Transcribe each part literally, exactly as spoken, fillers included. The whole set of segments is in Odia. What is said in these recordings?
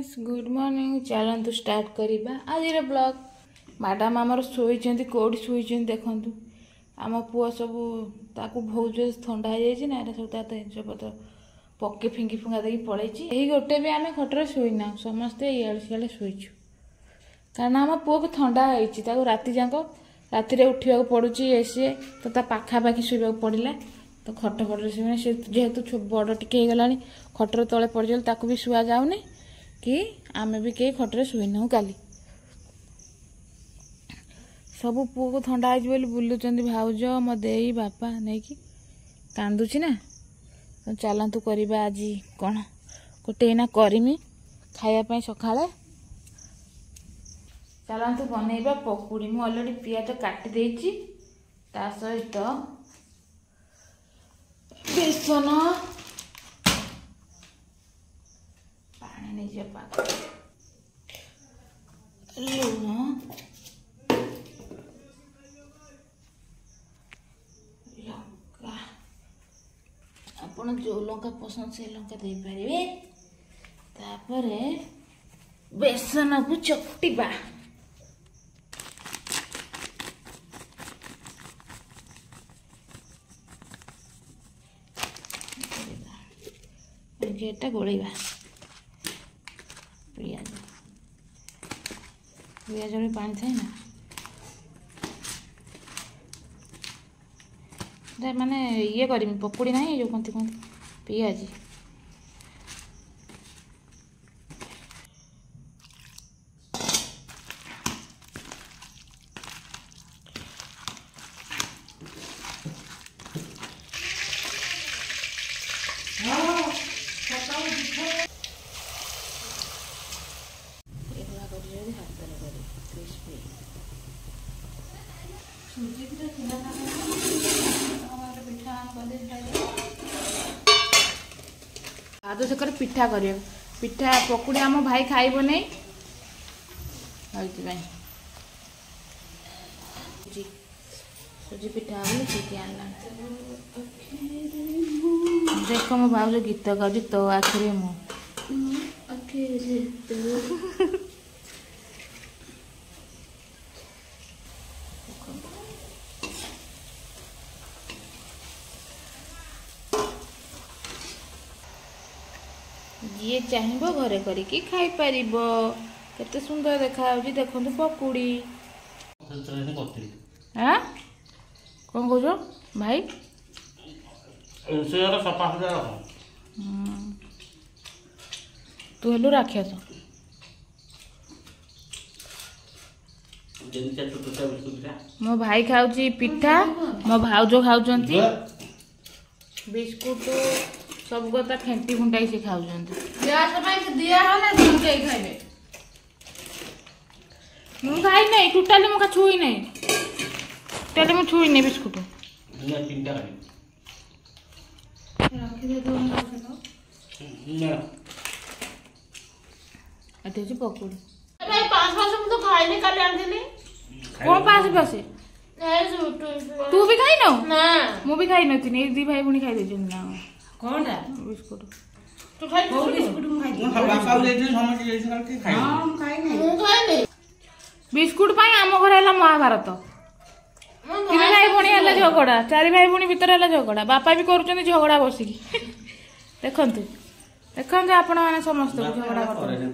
Friends, good morning. ଚାଲନ୍ତୁ ଷ୍ଟାର୍ଟ କରିବା ଆଜିର ବ୍ଲଗ୍। ମ୍ୟାଡ଼ାମ୍ ଆମର ଶୋଇଛନ୍ତି, କେଉଁଠି ଶୋଇଛନ୍ତି ଦେଖନ୍ତୁ। ଆମ ପୁଅ ସବୁ ତାକୁ ବହୁତ ଜୋର ଥଣ୍ଡା ହେଇଯାଇଛି ନା, ଏଟା ସବୁ ତା ଜିନିଷ ପତ୍ର ପକେଇ ଫିଙ୍ଗି ଫୁଙ୍ଗା ଦେଇକି ପଳେଇଛି। ଏହି ଗୋଟେ ବି ଆମେ ଖଟରେ ଶୋଇନାହୁଁ, ସମସ୍ତେ ଇଆଡ଼େ ସିଆଡ଼େ ଶୋଇଛୁ, କାରଣ ଆମ ପୁଅକୁ ଥଣ୍ଡା ହେଇଛି। ତାକୁ ରାତି ଯାକ ରାତିରେ ଉଠିବାକୁ ପଡ଼ୁଛି, ଏ ସିଏ ତ ତା ପାଖାପାଖି ଶୋଇବାକୁ ପଡ଼ିଲା। ତ ଖଟ ଫଟରେ ଶୋଇବନି ସେ, ଯେହେତୁ ବଡ଼ ଟିକେ ହେଇଗଲାଣି, ଖଟର ତଳେ ପଡ଼ିଗଲେ ତାକୁ ବି ଶୁଆ ଯାଉନି କି ଆମେ ବି କେହି ଖଟରେ ଶୋଇନାହୁଁ। କାଲି ସବୁ ପୁଅକୁ ଥଣ୍ଡା ହେଇଛି ବୋଲି ବୁଲୁଛନ୍ତି ଭାଉଜ, ମୋ ଦେଇ, ବାପା ନେଇକି, କାନ୍ଦୁଛି ନା। ତ ଚାଲନ୍ତୁ କରିବା ଆଜି କ'ଣ ଗୋଟେ ଏଇନା କରିମି ଖାଇବା ପାଇଁ ସକାଳେ। ଚାଲନ୍ତୁ ବନେଇବା ପକୁଡ଼ି। ମୁଁ ଅଲରେଡ଼ି ପିଆଜ କାଟି ଦେଇଛି, ତା ସହିତ ବେସନ, ପାଣି ନେଇଯିବା ପାଗ, ଲୁଣ, ଲଙ୍କା। ଆପଣ ଯେଉଁ ଲଙ୍କା ପସନ୍ଦ ସେଇ ଲଙ୍କା ଦେଇପାରିବେ। ତାପରେ ବେସନକୁ ଚକଟିବା। ଏଟା ଗୋଳେଇବା। ପିଆଜ, ପିଆଜରେ ପାଣି ଥାଏ ନା, ମାନେ ଇଏ କରିମି ପକୁଡ଼ି ନାହିଁ ଯେଉଁ କହନ୍ତି କହନ୍ତି ପିଆଜି। ଏଭଳିଆ କରି ହାତରେ କରି କ୍ରିସ୍ପି ସୁଜି ପିଠା ଥିଲା ନା, ପିଠା କରିଦେଇ ଭାଉଜ ସେକରେ ପିଠା କରିବେ। ପିଠା ପକୁଡ଼ି ଆମ ଭାଇ ଖାଇବ ନେଇ, ସେଇଥିପାଇଁ ସୁଜି ପିଠା ବୋଲି ସୁଜି ଆଣିଲାଣି। ଦେଖ ମୋ ଭାଉଜ ଗୀତ ଗାଉଛି, ତୋ ଆଖିରେ ମୁଁ। ଯିଏ ଚାହିଁବ ଘରେ କରିକି ଖାଇପାରିବ। କେତେ ସୁନ୍ଦର ଦେଖାଯାଉଛି ଦେଖନ୍ତୁ ପକୁଡ଼ି। ଆଁ କ'ଣ କହୁଛ ଭାଇ? ତୁ ହେଲୁ ରାକ୍ଷସ। ମୋ ଭାଇ ଖାଉଛି ପିଠା, ମୋ ଭାଉଜ ଖାଉଛନ୍ତି ବିସ୍କୁଟ, ସବୁ କଥା ଫେଣ୍ଟି ଫୁଣ୍ଟାଇ ସେ ଖାଉଛନ୍ତି। ମୁଁ ଖାଇ ନାହିଁ ଟୋଟାଲି, ମୁଁ ଛୁଇଁ ନାହିଁ ଟୋଟାଲି, ମୁଁ ଛୁଇଁନି ବିସ୍କୁଟ। ଏଠି ଅଛି ପକୁଡ଼ି। କଣ ପାସ ପାସ? ତୁ ବି ଖାଇନୁ? ମୁଁ ବି ଖାଇନଥିଲି, ଏଇ ଦି ଭାଇ ଭଉଣୀ ଖାଇ ଦେଇଛନ୍ତି ନା କଣଟା ବିସ୍କୁଟ। ବିସ୍କୁଟ ପାଇଁ ଆମ ଘରେ ହେଲା ମହାଭାରତ। ତିନି ଭାଇ ଭଉଣୀ ହେଲା ଝଗଡ଼ା, ଚାରି ଭାଇ ଭଉଣୀ ଭିତରେ ହେଲା ଝଗଡ଼ା, ବାପା ବି କରୁଛନ୍ତି ଝଗଡ଼ା ବସିକି। ଦେଖନ୍ତୁ ଦେଖନ୍ତୁ ଆପଣମାନେ ସମସ୍ତଙ୍କୁ ଝଗଡ଼ା କରୁଛନ୍ତି।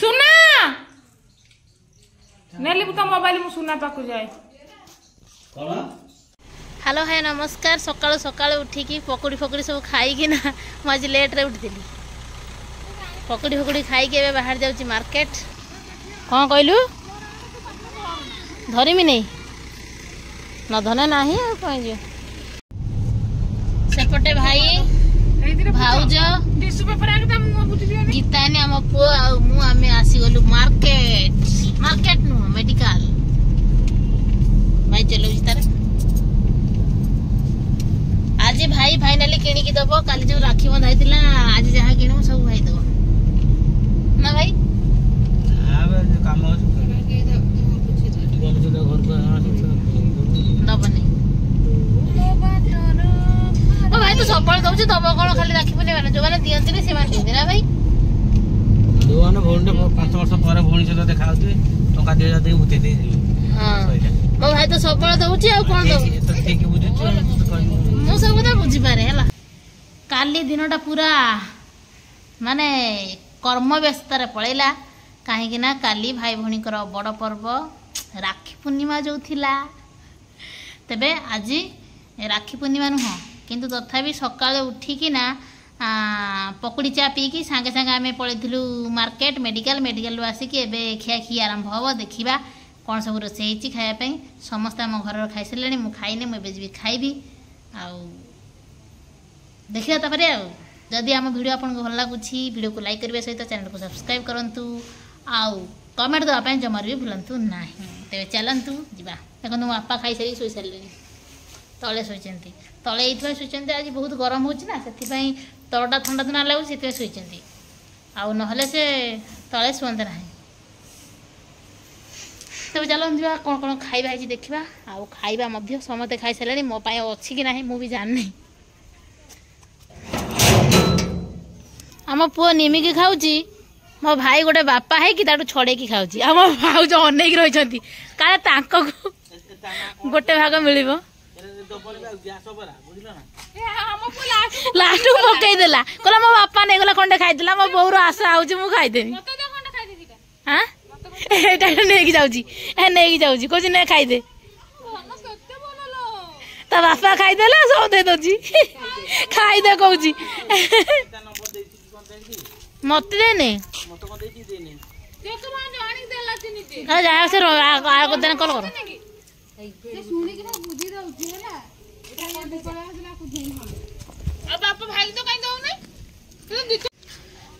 ସୁନା ନେଲି ତ ମୋବାଇଲ, ମୁଁ ସୁନା ପାଖକୁ ଯାଏ। ହ୍ୟାଲୋ ହାଏ ନମସ୍କାର। ସକାଳୁ ସକାଳୁ ଉଠିକି ପକୁଡ଼ି ଫକୁଡ଼ି ସବୁ ଖାଇକିନା, ମୁଁ ଆଜି ଲେଟ୍ରେ ଉଠିଥିଲି, ପକୁଡ଼ି ଫକୁଡ଼ି ଖାଇକି ଏବେ ବାହାରି ଯାଉଛି ମାର୍କେଟ। କ'ଣ କହିଲୁ? ଧରିମି ନେଇ ନ ଧନେ ନାହିଁ ଆଉ କ'ଣ ଯିବ। ସେପଟେ ଭାଇ, ଭାଉଜ, ଗୀତାନି, ଆମ ପୁଅ ଆଉ ମୁଁ ଆମେ ଆସିଗଲୁ ମାର୍କେଟ। ମାର୍କେଟ ନୁହଁ, ମେଡିକାଲ। ଭାଇ ଚଲାଉଛି ତାର। ଆଜି ଭାଇ ଫାଇନାଲି କିଣିକି ଦବ। କାଲି ଯୋଉ ରାକ୍ଷୀ ବନ୍ଧା ହେଇଥିଲା, ଆଜି ଯାହା କିଣିବୁ ସବୁ ଭାଇ ଦବ ନା ଭାଇ? କାମ ଦବନି। ଦଉଛି ଦବ କ'ଣ ଖାଲି ରାକ୍ଷୀ ପୂର୍ଣ୍ଣିମା ଯୋଉମାନେ ଦିଅନ୍ତିନି ସେମାନେ ଦିଅନ୍ତି ନା ଭାଇ ଯୋଉମାନେ ଭଉଣୀଟେ ପାଞ୍ଚ ବର୍ଷ ପରେ ଭଉଣୀ ସହିତ ଦେଖା ହଉଥିବେ ଟଙ୍କା ଦୁଇ ହଜାର ଦେଇକି ଭୂତେଇ ଦେଇଯିବେ ହଁ ମୋ ଭାଇ ତ ସବୁବେଳେ ଦଉଛି ଆଉ କ'ଣ ଦବ ଠିକ ବୁଝୁଛୁ ମୁଁ ସବୁ କଥା ବୁଝିପାରେ ହେଲା କାଲି ଦିନଟା ପୁରା ମାନେ କର୍ମ ବ୍ୟସ୍ତରେ ପଳେଇଲା କାହିଁକି ନା କାଲି ଭାଇ ଭଉଣୀଙ୍କର ବଡ଼ ପର୍ବ ରାକ୍ଷୀ ପୂର୍ଣ୍ଣିମା ଯେଉଁ ଥିଲା ତେବେ ଆଜି ରାକ୍ଷୀ ପୂର୍ଣ୍ଣିମା ନୁହଁ କିନ୍ତୁ ତଥାପି ସକାଳୁ ଉଠିକିନା ପକୁଡ଼ି ଚା ପିଇକି ସାଙ୍ଗେ ସାଙ୍ଗେ ଆମେ ପଳେଇଥିଲୁ ମାର୍କେଟ ମେଡ଼ିକାଲ ମେଡ଼ିକାଲରୁ ଆସିକି ଏବେ ଖିଆଖିଇ ଆରମ୍ଭ ହେବ ଦେଖିବା କ'ଣ ସବୁ ରୋଷେଇ ହେଇଛି ଖାଇବା ପାଇଁ ସମସ୍ତେ ଆମ ଘରର ଖାଇସାରିଲେଣି ମୁଁ ଖାଇନି ମୁଁ ଏବେ ଯିବି ଖାଇବି ଆଉ ଦେଖିବା ତାପରେ ଆଉ ଯଦି ଆମ ଭିଡ଼ିଓ ଆପଣଙ୍କୁ ଭଲ ଲାଗୁଛି ଭିଡ଼ିଓକୁ ଲାଇକ୍ କରିବା ସହିତ ଚ୍ୟାନେଲକୁ ସବସ୍କ୍ରାଇବ୍ କରନ୍ତୁ ଆଉ କମେଣ୍ଟ ଦେବା ପାଇଁ ଜମାରୁ ବି ଭୁଲନ୍ତୁ ନାହିଁ ତେବେ ଚାଲନ୍ତୁ ଯିବା ଦେଖନ୍ତୁ ମୋ ବାପା ଖାଇସାରିକି ଶୋଇସାରିଲେଣି ତଳେ ଶୋଇଛନ୍ତି ତଳେ ଏଇଥିପାଇଁ ଶୋଇଛନ୍ତି ଆଜି ବହୁତ ଗରମ ହେଉଛି ନା ସେଥିପାଇଁ ତଳଟା ଥଣ୍ଡା ଥଣ୍ଡା ଲାଗୁଛି ସେଥିପାଇଁ ଶୋଇଛନ୍ତି ଆଉ ନହେଲେ ସେ ତଳେ ଶୁଅନ୍ତେ ନାହିଁ ତେବେ ଚାଲନ୍ତୁ ଯିବା କ'ଣ କ'ଣ ଖାଇବା ହେଇଛି ଦେଖିବା ଆଉ ଖାଇବା ମଧ୍ୟ ସମସ୍ତେ ଖାଇସାରିଲେଣି ମୋ ପାଇଁ ଅଛି କି ନାହିଁ ମୁଁ ବି ଜାଣିନି ଆମ ପୁଅ ନିମିକି ଖାଉଛି ମୋ ଭାଇ ଗୋଟେ ବାପା ହେଇକି ତାଠୁ ଛଡ଼େଇକି ଖାଉଛି ଆମ ଭାଉଜ ଅନେଇକି ରହିଛନ୍ତି କାଳେ ତାଙ୍କ ଗୋଟେ ଭାଗ ମିଳିବ ଲାଷ୍ଟକୁ ପକେଇଦେଲା କହିଲା ମୋ ବାପା ନେଇଗଲା ଖଣ୍ଡେ ଖାଇଦେଲା ମୋ ବୋଉର ଆଶା ହଉଛି ମୁଁ ଖାଇଦେବି ଆଁ ଏଇଟା ନେଇକି ଯାଉଛି ଏ ନେଇକି ଯାଉଛି କହୁଛି ନେ ଖାଇଦେ ତା ବାପା ଖାଇଦେଲା ସବୁ ଦେଇଦଉଛି ଖାଇଦେ କହୁଛି ମତେ ଦେଇନି ଯାହା ସେ କଲ୍ କର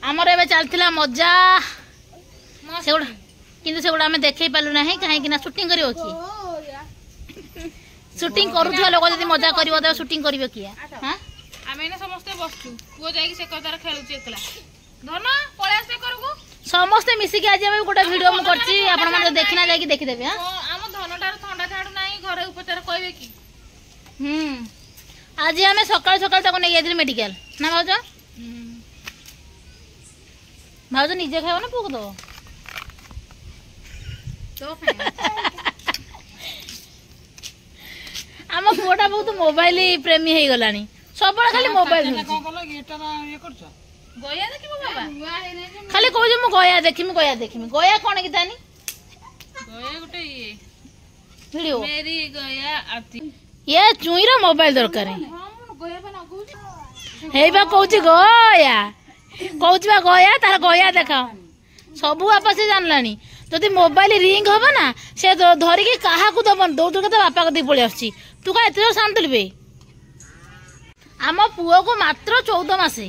ଆମର ଏବେ ଚାଲିଥିଲା ମଜା ସେଗୁଡ଼ା କିନ୍ତୁ ସେଗୁଡ଼ା ଆମେ ଦେଖେଇ ପାରିଲୁ ନାହିଁ କାହିଁକି ନା ସୁଟିଂ କରିବ କିଏ ସୁଟିଂ କରୁଥିବା ଲୋକ ଯଦି ମଜା କରିବ ତେବେ ସୁଟିଂ କରିବ କିଏ ହଁ ଆମେ ଏଇନା ସମସ୍ତେ ବସଛୁ ପୁଅ ଯାଇକି ସେ ତାର ଖେଳୁଛି ଏକଲା ଧନ ପଳେଇ ଆସେ କରକୁ ସମସ୍ତେ ମିଶିକି ଆଜି ଆମେ ଗୋଟେ ଭିଡ଼ିଓ ମୁଁ କରିଛି ଆପଣମାନେ ଦେଖିନା ଯାଇକି ଦେଖିଦେବେ ହଁ ଆମ ଧନଟାର ଥଣ୍ଡା ଛାଡୁ ନାହିଁ ଘରେ ଉପଚାର କହିବେ କି ହୁଁ ଆଜି ଆମେ ସକାଳୁ ସକାଳୁ ତାକୁ ନେଇକି ଯାଇଥିଲୁ ମେଡ଼ିକାଲ ନା ଭାଉଜ ଭାଉଜ ନିଜେ ଖାଇବ ନା ପୁଅକୁ ଦବ ଆମ ପୁଅଟା ବହୁତ ମୋବାଇଲ ପ୍ରେମୀ ହେଇଗଲାଣି ସବୁବେଳେ ଖାଲି ମୋବାଇଲ ଗୟା ଦେଖିବୁ ବାବା ଖାଲି କହୁଛି ମୁଁ ଗୟା ଦେଖିମି ଗୟା ଦେଖିମି ଗୟା କ'ଣ କି ତାନି ଗୟା ଗୋଟେ ଇଏ ଭିଡ଼ିଓ ମେରି ଗୟା ଆତି ଇଏ ଚୁଇଁର ମୋବାଇଲ ଦରକାର ହେଇ ବା କହୁଛି ଗୟା କହୁଛି ବା ଗୟା ତାର ଗୟା ଦେଖ ସବୁ ବାପା ସେ ଜାଣିଲାଣି ଯଦି ମୋବାଇଲ ରିଙ୍ଗ ହବ ନା ସେ ଧରିକି କାହାକୁ ଦବନି ଦୌଡ଼ି ଦୌଡ଼ି ତା ବାପା କତିକି ପଳେଇ ଆସୁଛି ତୁ କାଇଁ ଏତେ ଜୋର ସାଉଣ୍ଡ ଦେଲୁ ବେ ଆମ ପୁଅକୁ ମାତ୍ର ଚଉଦ ମାସେ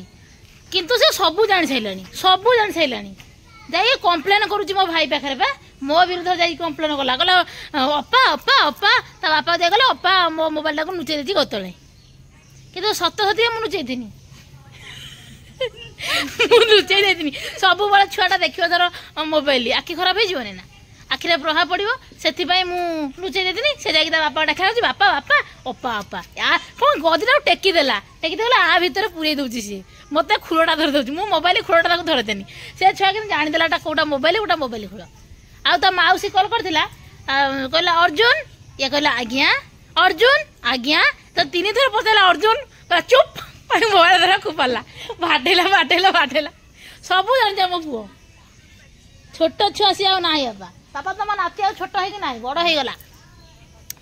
କିନ୍ତୁ ସେ ସବୁ ଜାଣି ସାରିଲାଣି ସବୁ ଜାଣି ସାରିଲାଣି ଯାଇକି କମ୍ପ୍ଲେନ୍ କରୁଛି ମୋ ଭାଇ ପାଖରେ ବା ମୋ ବିରୁଦ୍ଧରେ ଯାଇକି କମ୍ପ୍ଲେନ୍ କଲା କହିଲା ଅପା ଅପା ଅପା ତା ବାପା ଯାଇ କହିଲେ ଅପା ମୋ ମୋବାଇଲଟାକୁ ଲୁଚେଇ ଦେଇଛି ଗତଳେ କିନ୍ତୁ ସତ ସତିକା ମୁଁ ଲୁଚେଇଥିନି ମୁଁ ଲୁଚେଇ ଦେଇଥିନି ସବୁବେଳେ ଛୁଆଟା ଦେଖିବ ଧର ମୋବାଇଲ ଆଖି ଖରାପ ହେଇଯିବନି ନା ଆଖିରେ ପ୍ରଭାବ ପଡ଼ିବ ସେଥିପାଇଁ ମୁଁ ଲୁଚେଇ ଦେଇଥିନି ସେ ଯାଇକି ତା ବାପା ଡାକା ହେଉଛି ବାପା ବାପା ଅପା ଅପା ଆ କ'ଣ ଗଦିଟାକୁ ଟେକିଦେଲା ଟେକିଦେଲା ଆ ଭିତରେ ପୁରେଇ ଦେଉଛି ସିଏ ମୋତେ ଖୁଳଟା ଧରି ଦେଉଛି ମୁଁ ମୋବାଇଲ ଖୁଳଟା ତାକୁ ଧରେଇଦେନି ସେ ଛୁଆ କିନ୍ତୁ ଜାଣିଦେଲା ଏଟା କୋଉଟା ମୋବାଇଲ ଗୋଟା ମୋବାଇଲ ଖୁଳ ଆଉ ତା ମାଉସୀ କଲ୍ କରିଥିଲା କହିଲା ଅର୍ଜୁନ ଇଏ କହିଲା ଆଜ୍ଞା ଅର୍ଜୁନ ଆଜ୍ଞା ତ ତିନି ଥର ପଚାରିଲା ଅର୍ଜୁନ କହିଲା ଚୁପ୍ ମୋବାଇଲ ଧରା ଖୋପାଡ଼ିଲା ବାଡ଼େଇଲା ବାଡ଼େଇଲା ବାଡ଼େଇଲା ସବୁ ଜାଣିଛି ଆମ ପୁଅ ଛୋଟ ଛୁଆ ସିଏ ଆଉ ନାହିଁ ବାପା ବାପା ତମ ନାତି ଆଉ ଛୋଟ ହେଇକି ନାହିଁ ବଡ଼ ହେଇଗଲା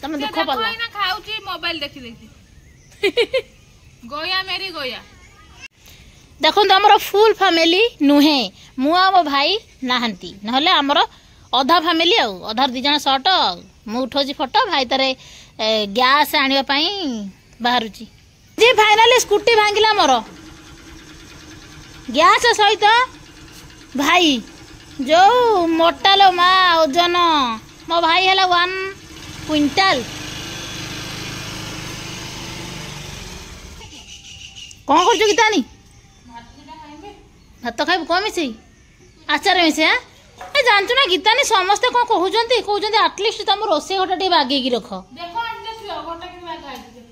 ତମେ ଦୁଃଖ ପାଇଲ ଖାଉଛି ମୋବାଇଲ ଦେଖି ଦେଖି ଗୟା ମେରି ଗୟା ଦେଖନ୍ତୁ ଆମର ଫୁଲ୍ ଫ୍ୟାମିଲି ନୁହେଁ ମୁଁ ଆଉ ମୋ ଭାଇ ନାହାନ୍ତି ନହେଲେ ଆମର ଅଧା ଫ୍ୟାମିଲି ଆଉ ଅଧାରୁ ଦୁଇ ଜଣ ସର୍ଟ ଆଉ ମୁଁ ଉଠାଉଛି ଫଟୋ ଭାଇ ତାରେ ଗ୍ୟାସ୍ ଆଣିବା ପାଇଁ ବାହାରୁଛି ଯେ ଫାଇନାଲି ସ୍କୁଟି ଭାଙ୍ଗିଲା ମୋର ଗ୍ୟାସ୍ ସହିତ ଭାଇ ଯୋଉ ମୋଟା ଲୋ ମା ଓଜନ ମୋ ଭାଇ ହେଲା ୱାନ୍ କୁଇଣ୍ଟାଲ କ'ଣ କରୁଛୁ ଗୀତାନି ଭାତ ଖାଇବୁ କ'ଣ ମିଶେଇ ଆଚାର ମିଶେଇ ଆଁ ଏ ଜାଣିଛୁ ନା ଗୀତାନି ସମସ୍ତେ କ'ଣ କହୁଛନ୍ତି କହୁଛନ୍ତି ଆଟଲିଷ୍ଟ ତମ ରୋଷେଇ ଘରଟା ଟିକେ ବାଗେଇକି ରଖ ଦେଖ ଆଣି ଦେଖିବ ଘରଟା କେମିତି ବାଗା ହେଇଛି ଦେଖ।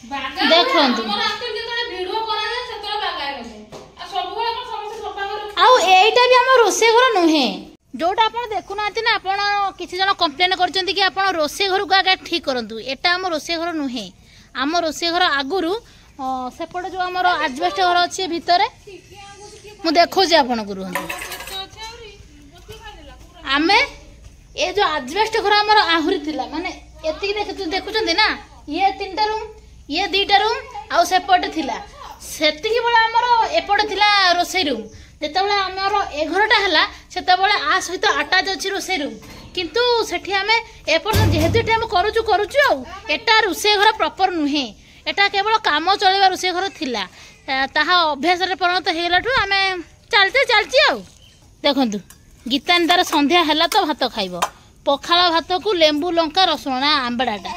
ଦେଖନ୍ତୁ। ଆମର ଆକ୍ଚୁଆଲି ଯେତେବେଳେ ଭିଡିଓ କରାଯାଏ ସେତେବେଳେ ବାଗା ହେଇନଥାଏ, ଆଉ ସବୁବେଳେ କଣ ସମସ୍ତେ ସଫା କରି ଆଉ ଏଇଟା ବି ଆମ ରୋଷେଇ ଘର ନୁହେଁ, ଯୋଉଟା ଆପଣ ଦେଖୁନାହାନ୍ତି ନା। ଆପଣ କିଛି ଜଣ କମ୍ପ୍ଲେନ କରିଛନ୍ତି କି ଆପଣ ରୋଷେଇ ଘରକୁ ଆଗେ ଠିକ କରନ୍ତୁ। ଏଟା ଆମ ରୋଷେଇ ଘର ନୁହେଁ। ଆମ ରୋଷେଇ ଘର ଆଗରୁ ଅ, ସେପଟେ ଯୋଉ ଆମର ଆଜବେଷ୍ଟ ଘର ଅଛି ଭିତରେ, ମୁଁ ଦେଖଉଛି ଆପଣଙ୍କୁ, ରୁହନ୍ତୁ। ଆମେ ଏ ଯୋଉ ଆଜବେଷ୍ଟ ଘର ଆମର ଆହୁରି ଥିଲା, ମାନେ ଏତିକି ଦେଖୁ- ଦେଖୁଛନ୍ତି ନା, ଇଏ ତିନିଟା ରୁମ୍, ଇଏ ଦିଟା ରୁମ୍, ଆଉ ସେପଟେ ଥିଲା। ସେତିକି ବେଳେ ଆମର ଏପଟେ ଥିଲା ରୋଷେଇ ରୁମ୍। ଯେତେବେଳେ ଆମର ଏ ଘରଟା ହେଲା, ସେତେବେଳେ ଆ ସହିତ ଆଟାଚ୍ ଅଛି ରୋଷେଇ ରୁମ୍, କିନ୍ତୁ ସେଠି ଆମେ ଏପର୍ଯ୍ୟନ୍ତ ଯେହେତୁ ଏଠି ଆମେ କରୁଛୁ କରୁଛୁ ଆଉ ଏଟା ରୋଷେଇ ଘର ପ୍ରପର ନୁହେଁ। ଏଟା କେବଳ କାମ ଚଳେଇବା ରୋଷେଇ ଘର ଥିଲା। ଆ, ତାହା ଅଭ୍ୟାସରେ ପରିଣତ ହେଇଗଲାଠୁ ଆମେ ଚାଲିଛି ଚାଲିଛି। ଆଉ ଦେଖନ୍ତୁ, ଗୀତାନି ତାର ସନ୍ଧ୍ୟା ହେଲା ତ ଭାତ ଖାଇବ, ପଖାଳ ଭାତକୁ ଲେମ୍ବୁ ଲଙ୍କା ରସୁଣ ନା ଆମ୍ବଡ଼ାଟା,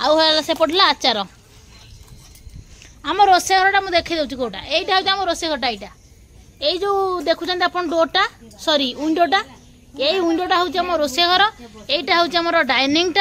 ଆଉ ହେଲା ସେପଟେ ହେଲା ଆଚାର। ଆମ ରୋଷେଇ ଘରଟା ମୁଁ ଦେଖେଇ ଦେଉଛି କୋଉଟା। ଏଇଟା ହେଉଛି ଆମ ରୋଷେଇ ଘରଟା। ଏଇଟା ଏଇ ଯୋଉ ଦେଖୁଛନ୍ତି ଆପଣ ଡୋରଟା, ସରି ୱିଣ୍ଡୋଟା, ଏଇ ୱିଣ୍ଡୋଟା ହେଉଛି ଆମ ରୋଷେଇ ଘର। ଏଇଟା ହେଉଛି ଆମର ଡାଇନିଂଟା।